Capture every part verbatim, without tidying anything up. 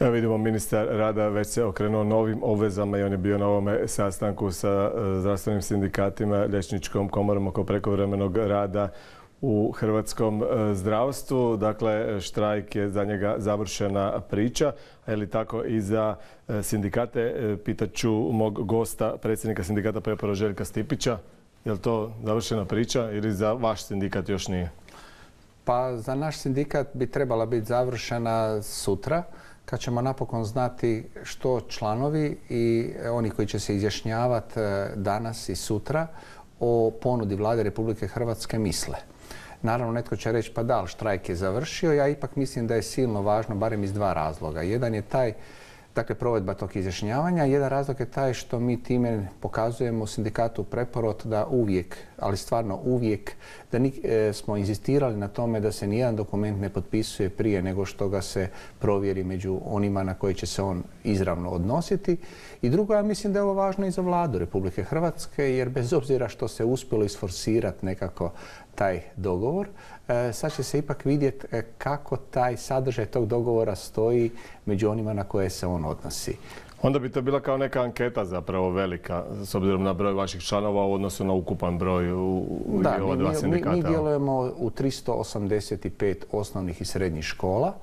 Evo vidimo, ministar rada već se okrenuo novim obvezama i on je bio na ovome sastanku sa zdravstvenim sindikatima, liječničkom komorom oko prekovremenog rada u hrvatskom zdravstvu. Dakle, štrajk je za njega završena priča, a je li tako i za sindikate? Pitaću mog gosta, predsjednika sindikata Preporo Željka Stipića. Je li to završena priča ili za vaš sindikat još nije? Pa za naš sindikat bi trebala biti završena sutra, kad ćemo napokon znati što članovi i oni koji će se izjašnjavati danas i sutra o ponudi Vlade Republike Hrvatske misle. Naravno, netko će reći pa da, ali štrajk je završio. Ja ipak mislim da je silno važno, barem iz dva razloga. Jedan je taj, dakle, provedba tog izjašnjavanja. Jedan razlog je taj što mi time pokazujemo sindikatu Preporod da uvijek, ali stvarno uvijek, da e, smo inzistirali na tome da se nijedan dokument ne potpisuje prije nego što ga se provjeri među onima na koji će se on izravno odnositi. I drugo, ja mislim da je ovo važno i za Vladu Republike Hrvatske, jer bez obzira što se uspjelo isforsirati nekako taj dogovor, e, sad će se ipak vidjeti e, kako taj sadržaj tog dogovora stoji među onima na koje se on odnosi. Onda bi to bila kao neka anketa zapravo velika, s obzirom na broj vaših članova u odnosu na ukupan broj u, u da, ova dva sindikata. Mi, mi djelujemo u tristo osamdeset pet osnovnih i srednjih škola,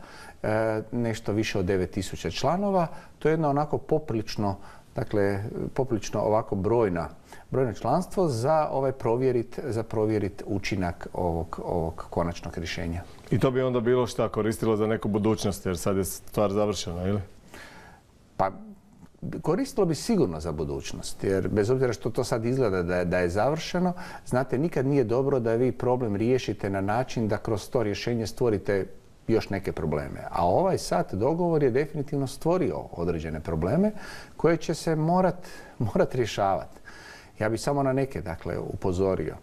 e, nešto više od devet tisuća članova. To je jedno onako poprilično, dakle, poprilično ovako brojna brojno članstvo za ovaj provjerit, za provjerit učinak ovog, ovog konačnog rješenja. I to bi onda bilo šta koristilo za neku budućnost, jer sad je stvar završena, ili? Pa, koristilo bi sigurno za budućnost, jer bez obzira što to sad izgleda da je, da je završeno, znate, nikad nije dobro da vi problem riješite na način da kroz to rješenje stvorite još neke probleme. A ovaj sad dogovor je definitivno stvorio određene probleme koje će se morat, morat rješavati. Ja bih samo na neke, dakle, upozorio.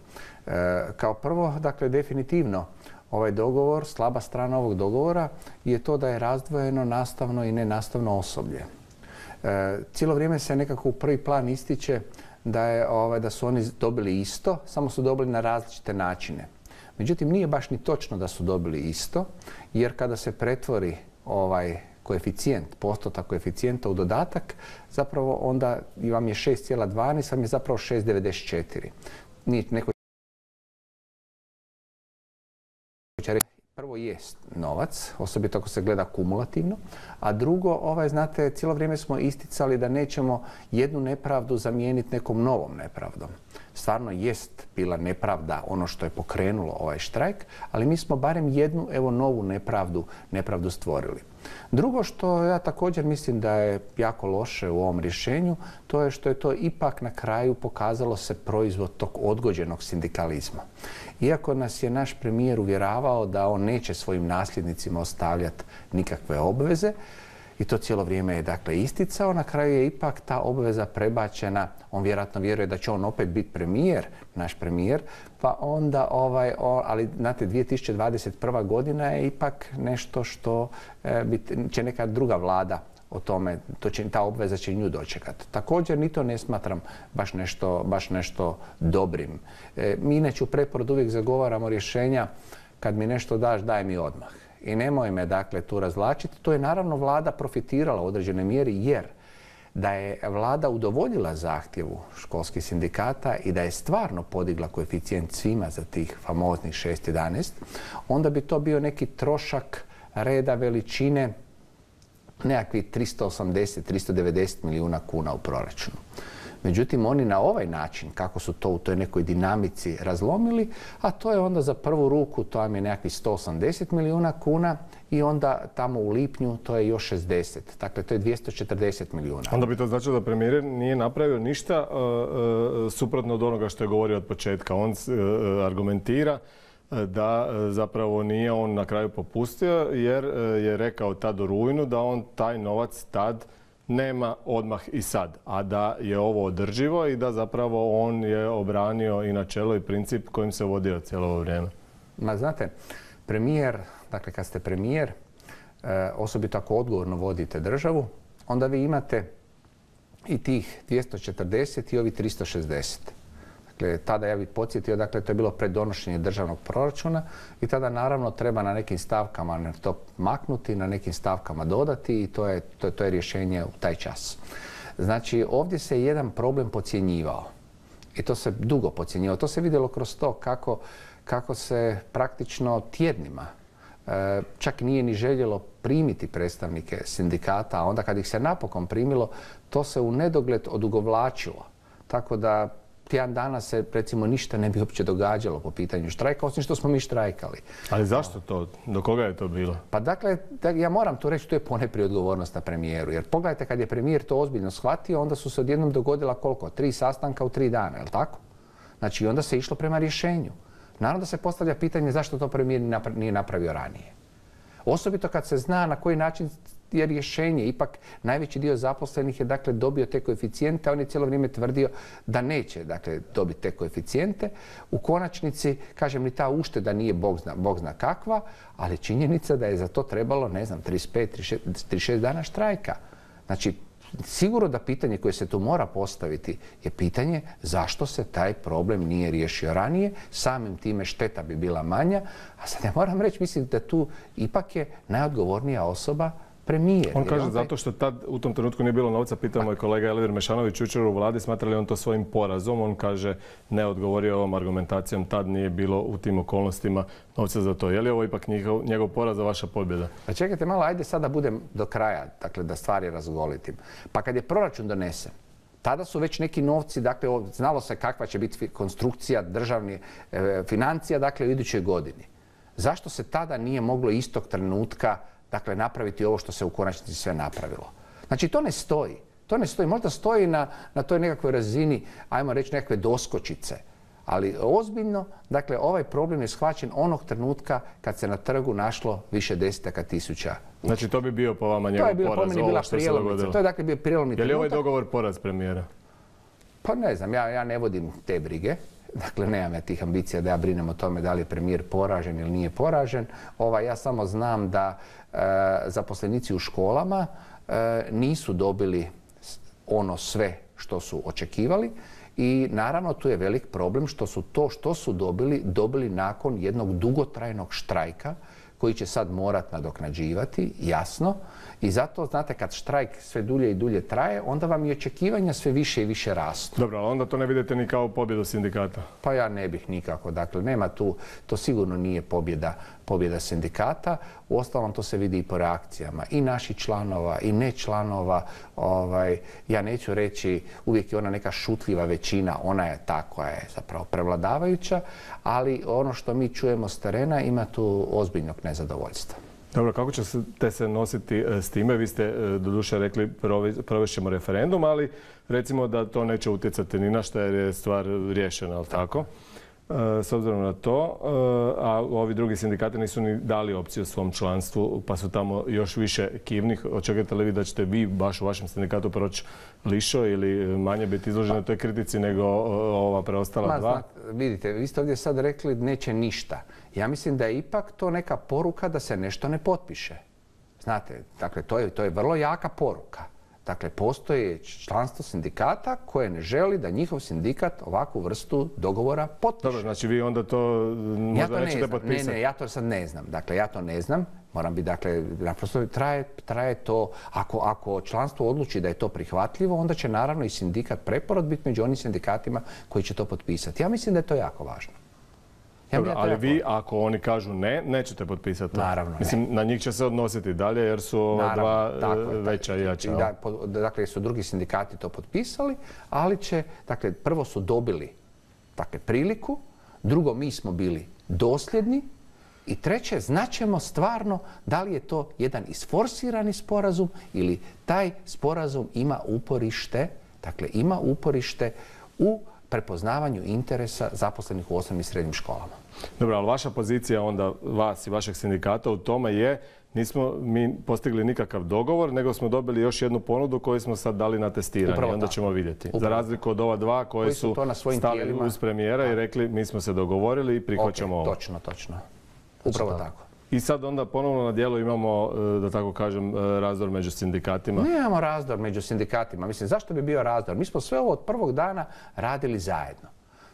E, kao prvo, dakle, definitivno ovaj dogovor, slaba strana ovog dogovora je to da je razdvojeno nastavno i nenastavno osoblje. E, cijelo vrijeme se nekako u prvi plan ističe da, je, ovaj, da su oni dobili isto, samo su dobili na različite načine. Međutim, nije baš ni točno da su dobili isto, jer kada se pretvori ovaj koeficijent, postotak koeficijenta u dodatak, zapravo onda vam je šest zarez dvanaest, vam je zapravo šest zarez devedeset četiri. Nije neko će reći, prvo jest novac, osobito ako se gleda kumulativno, a drugo, ovaj, znate, cijelo vrijeme smo isticali da nećemo jednu nepravdu zamijeniti nekom novom nepravdom. Stvarno jest bila nepravda ono što je pokrenulo ovaj štrajk, ali mi smo barem jednu, evo, novu nepravdu, nepravdu stvorili. Drugo što ja također mislim da je jako loše u ovom rješenju, to je što je to ipak na kraju pokazalo se proizvod tog odgođenog sindikalizma. Iako nas je naš premijer uvjeravao da on neće svojim nasljednicima ostavljati nikakve obveze, i to cijelo vrijeme je, dakle, isticao, na kraju je ipak ta obveza prebačena. On vjerojatno vjeruje da će on opet biti premijer, naš premijer, pa onda, ovaj, o, ali znate, dvije tisuće dvadeset prva godina je ipak nešto što e, bit, će neka druga vlada o tome, to će, ta obveza će nju dočekati. Također, ni to ne smatram baš nešto, baš nešto dobrim. E, mi inače u Preporodu uvijek zagovaramo rješenja, kad mi nešto daš, daj mi odmah. I nemoj me, dakle, tu razvlačiti. To je naravno vlada profitirala u određenoj mjeri, jer da je vlada udovoljila zahtjevu školskih sindikata i da je stvarno podigla koeficijent svima za tih famoznih šest zarez jedanaest, onda bi to bio neki trošak reda veličine nekakvih tristo osamdeset do tristo devedeset milijuna kuna u proračunu. Međutim, oni na ovaj način, kako su to u toj nekoj dinamici razlomili, a to je onda za prvu ruku, to vam je nekakvih sto osamdeset milijuna kuna i onda tamo u lipnju to je još šezdeset. Dakle, to je dvjesto četrdeset milijuna. Onda bi to značilo da premijer nije napravio ništa uh, uh, suprotno od onoga što je govorio od početka. On uh, argumentira da zapravo nije on na kraju popustio, jer je rekao tad u rujnu da on taj novac tad nema odmah i sad, a da je ovo održivo i da zapravo on je obranio i načelo i princip kojim se vodio cijelo ovo vrijeme. Ma znate, premijer, dakle kad ste premijer, osobito ako odgovorno vodite državu, onda vi imate i tih dvjesto četrdeset i ovi tristo šezdeset. Dakle, tada ja bih podsjetio, dakle, to je bilo pred donošenje državnog proračuna i tada naravno treba na nekim stavkama to maknuti, na nekim stavkama dodati i to je, to, to je rješenje u taj čas. Znači, ovdje se jedan problem podcjenjivao i to se dugo podcjenjivao. To se vidjelo kroz to kako, kako se praktično tjednima e, čak nije ni željelo primiti predstavnike sindikata, a onda kad ih se napokon primilo, to se u nedogled odugovlačilo. Tako da tjedan dana se, recimo, ništa ne bi uopće događalo po pitanju štrajka, osim što smo mi štrajkali. Ali zašto to? Do koga je to bilo? Pa dakle, ja moram tu reći, to je ponajprije odgovornost na premijeru. Jer pogledajte, kad je premijer to ozbiljno shvatio, onda su se odjednom dogodila koliko? Tri sastanka u tri dana, je li tako? Znači, onda se išlo prema rješenju. Naravno da se postavlja pitanje zašto to premijer nije napravio ranije. Osobito kad se zna na koji način je rješenje. Ipak najveći dio zaposlenih je dakle dobio te koeficijente, a on je cijelo vrijeme tvrdio da neće dakle dobiti te koeficijente. U konačnici, kažem, ni ta ušteda nije bog zna, bog zna kakva, ali činjenica da je za to trebalo, ne znam, trideset pet, trideset šest dana štrajka. Znači, sigurno da pitanje koje se tu mora postaviti je pitanje zašto se taj problem nije riješio ranije, samim time šteta bi bila manja, a sad ja moram reći, mislim da tu ipak je najodgovornija osoba premijer. On kaže zato što tad u tom trenutku nije bilo novca, pitao moj kolega Elvir Mešanović jučer u vladi, smatra li on to svojim porazom. On kaže ne odgovorio ovom argumentacijom, tad nije bilo u tim okolnostima novca za to. Je li ovo ipak njegov, njegov poraz, a vaša pobjeda? A čekajte malo, ajde sad da budem do kraja, dakle da stvari razgolitim. Pa kad je proračun donesen, tada su već neki novci, dakle znalo se kakva će biti konstrukcija državnih e, financija, dakle u idućoj godini. Zašto se tada nije moglo istog trenutka dakle napraviti ovo što se u konačnici sve napravilo? Znači to ne stoji. To ne stoji. Možda stoji na, na toj nekakvoj razini, ajmo reći, nekakve doskočice. Ali ozbiljno, dakle, ovaj problem je shvaćen onog trenutka kad se na trgu našlo više desetaka tisuća. Znači to bi bio po vama njegov poraz, ovo što se dogodilo. To je dakle bio prijelomni trenutak. Je li ovaj dogovor poraz premijera? Pa ne znam, ja, ja ne vodim te brige. Dakle, nemam ja tih ambicija da ja brinem o tome da li je premijer poražen ili nije poražen. Ova, ja samo znam da e, zaposlenici u školama e, nisu dobili ono sve što su očekivali i naravno tu je velik problem što su to što su dobili, dobili nakon jednog dugotrajnog štrajka koji će sad morat nadoknađivati, jasno. I zato, znate, kad štrajk sve dulje i dulje traje, onda vam i očekivanja sve više i više rastu. Dobro, ali onda to ne vidite ni kao pobjedu sindikata? Pa ja ne bih nikako. Dakle, nema tu, to sigurno nije pobjeda, pobjeda sindikata. Uostalom, to se vidi i po reakcijama i naših članova i ne članova. Ovaj, ja neću reći, uvijek je ona neka šutljiva većina, ona je ta koja je zapravo prevladavajuća, ali ono što mi čujemo s terena ima tu ozbiljnog nezadovoljstva. Dobro, kako ćete se nositi s time? Vi ste doduše rekli provešćemo referendum, ali recimo da to neće utjecati ni na što jer je stvar riješena, ali tako? S obzirom na to, a ovi drugi sindikati nisu ni dali opciju svom članstvu, pa su tamo još više kivnih. Očekujete li vi da ćete vi baš u vašem sindikatu proći lišo ili manje biti izloženi toj kritici nego ova preostala Ma, dva? Znate, vidite, vi ste ovdje sad rekli neće ništa. Ja mislim da je ipak to neka poruka da se nešto ne potpiše. Znate, dakle, to je, to je vrlo jaka poruka. Dakle, postoji članstvo sindikata koje ne želi da njihov sindikat ovakvu vrstu dogovora potpiše. Dobro, znači vi onda to možda ja to nećete ne potpisati. Ne, ne, ja to sad ne znam. Dakle, ja to ne znam. Moram biti, dakle, naprosto traje, traje to. Ako, ako članstvo odluči da je to prihvatljivo, onda će naravno i sindikat Preporod biti među onim sindikatima koji će to potpisati. Ja mislim da je to jako važno. Ja Dobro, ali vi, ako oni kažu ne, nećete potpisati to? Naravno, ne. Mislim, na njih će se odnositi dalje jer su ova dva veća i jača. Da, dakle, su drugi sindikati to potpisali, ali će, dakle, prvo su dobili dakle, priliku, drugo, mi smo bili dosljedni i treće, znaćemo stvarno da li je to jedan isforsirani sporazum ili taj sporazum ima uporište, dakle, ima uporište u prepoznavanju interesa zaposlenih u osnovnim i srednjim školama. Dobro, ali vaša pozicija onda vas i vašeg sindikata u tome je nismo mi postigli nikakav dogovor, nego smo dobili još jednu ponudu koju smo sad dali na testiranje. Upravo onda tako. ćemo vidjeti. Upravo Za razliku od ova dva koje koji su, su stali tijelima uz premijera i rekli mi smo se dogovorili i prihvaćamo okay, ovo. Točno, točno. Upravo znači, tako. I sad onda ponovno na dijelu imamo, da tako kažem, razdor među sindikatima. Ne imamo razdor među sindikatima. Mislim, zašto bi bio razdor? Mi smo sve ovo od prvog dana radili zajedno.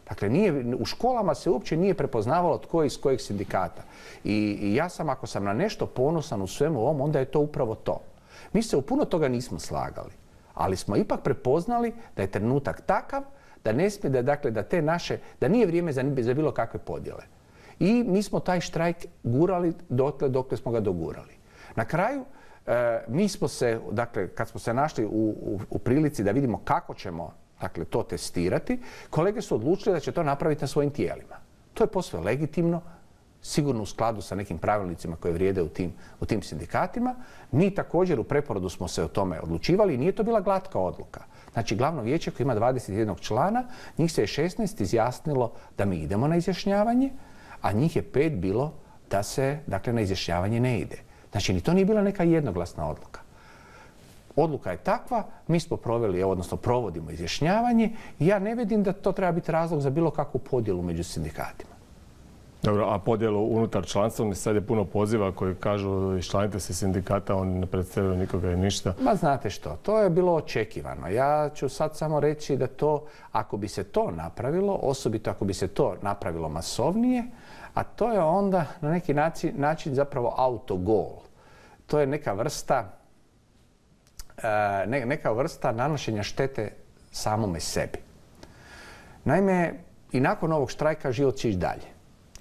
Dakle, nije, u školama se uopće nije prepoznavalo tko je iz kojeg sindikata. I, I ja sam, ako sam na nešto ponosan u svemu ovom, onda je to upravo to. Mi se u puno toga nismo slagali, ali smo ipak prepoznali da je trenutak takav da ne smije, da, dakle, da te naše, da nije vrijeme za, za bilo kakve podjele. I mi smo taj štrajk gurali dotle dokle smo ga dogurali. Na kraju, e, mi smo se, dakle, kad smo se našli u, u, u prilici da vidimo kako ćemo, dakle, to testirati, kolege su odlučili da će to napraviti na svojim tijelima. To je posve legitimno, sigurno u skladu sa nekim pravilnicima koje vrijede u tim, u tim sindikatima. Mi također u preporodu smo se o tome odlučivali i nije to bila glatka odluka. Znači, glavno vijeće koje ima dvadeset jedan člana, njih se je šesnaest izjasnilo da mi idemo na izjašnjavanje, a njih je pet bilo da se, dakle, na izjašnjavanje ne ide. Znači, ni to nije bila neka jednoglasna odluka. Odluka je takva, mi smo proveli, odnosno provodimo izjašnjavanje i ja ne vidim da to treba biti razlog za bilo kakvu podjelu među sindikatima. Dobro, a podjelu unutar članstva, sad je puno poziva koji kažu iščlanite se sindikata, oni ne predstavljaju nikoga i ništa. Ma znate što, to je bilo očekivano. Ja ću sad samo reći da to, ako bi se to napravilo, osobito ako bi se to napravilo masovnije, a to je onda na neki način, način zapravo autogol. To je neka vrsta, ne, neka vrsta nanošenja štete samome sebi. Naime, i nakon ovog štrajka život će ići dalje.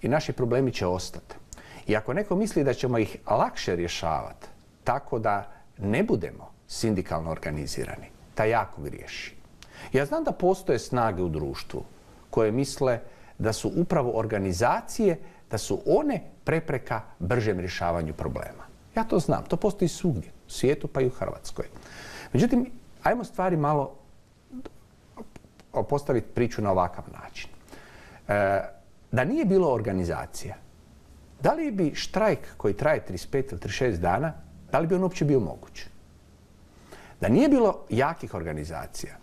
I naši problemi će ostati. I ako neko misli da ćemo ih lakše rješavati tako da ne budemo sindikalno organizirani, taj jako griješi. Ja znam da postoje snage u društvu koje misle da su upravo organizacije, da su one prepreka bržem rješavanju problema. Ja to znam, to postoji svugdje, u svijetu pa i u Hrvatskoj. Međutim, ajmo stvari malo postaviti priču na ovakav način. E, Da nije bilo organizacija, da li bi štrajk koji traje trideset pet ili trideset šest dana, da li bi on uopće bio moguć? Da nije bilo jakih organizacija,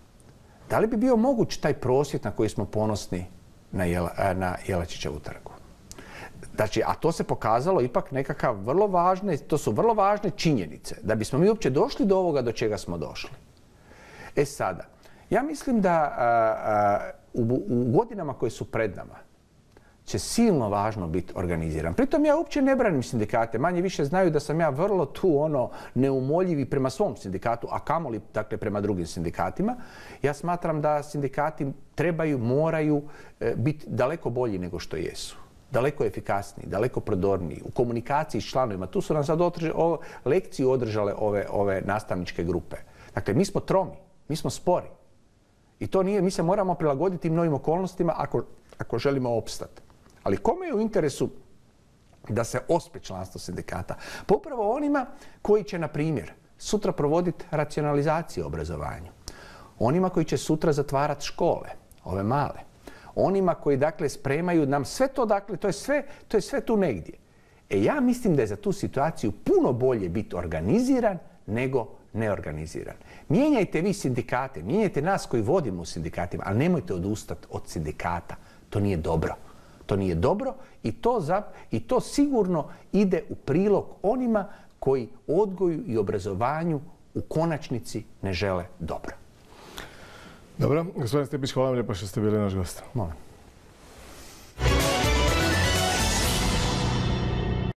da li bi bio moguć taj prosvjed na koji smo ponosni na, Jela, na Jelačićevu trgu? Znači, a to se pokazalo ipak nekakav vrlo važne, to su vrlo važne činjenice, da bismo mi uopće došli do ovoga do čega smo došli. E sada, ja mislim da a, a, u, u godinama koje su pred nama, će silno važno biti organiziran. Pritom ja uopće ne branim sindikate. Manje više znaju da sam ja vrlo tu ono neumoljivi prema svom sindikatu, a kamoli dakle prema drugim sindikatima. Ja smatram da sindikati trebaju, moraju e, biti daleko bolji nego što jesu. Daleko efikasniji, daleko prodorniji, u komunikaciji s članovima. Tu su nam sad održe, o, lekciju održale ove, ove nastavničke grupe. Dakle, mi smo tromi, mi smo spori. I to nije, mi se moramo prilagoditi novim okolnostima ako, ako želimo opstati. Ali kome je u interesu da se ospe članstvo sindikata? Pa upravo onima koji će, na primjer, sutra provoditi racionalizaciju obrazovanju. Onima koji će sutra zatvarati škole, ove male. Onima koji, dakle, spremaju nam sve to, dakle, to je sve, to je sve tu negdje. E ja mislim da je za tu situaciju puno bolje biti organiziran nego neorganiziran. Mijenjajte vi sindikate, mijenjajte nas koji vodimo u sindikatima, ali nemojte odustati od sindikata. To nije dobro. To nije dobro i to, za, i to sigurno ide u prilog onima koji odgoju i obrazovanju u konačnici ne žele dobro. Dobro, gospodin Stipić, hvala vam lijepo što ste bili naš gost. Molim.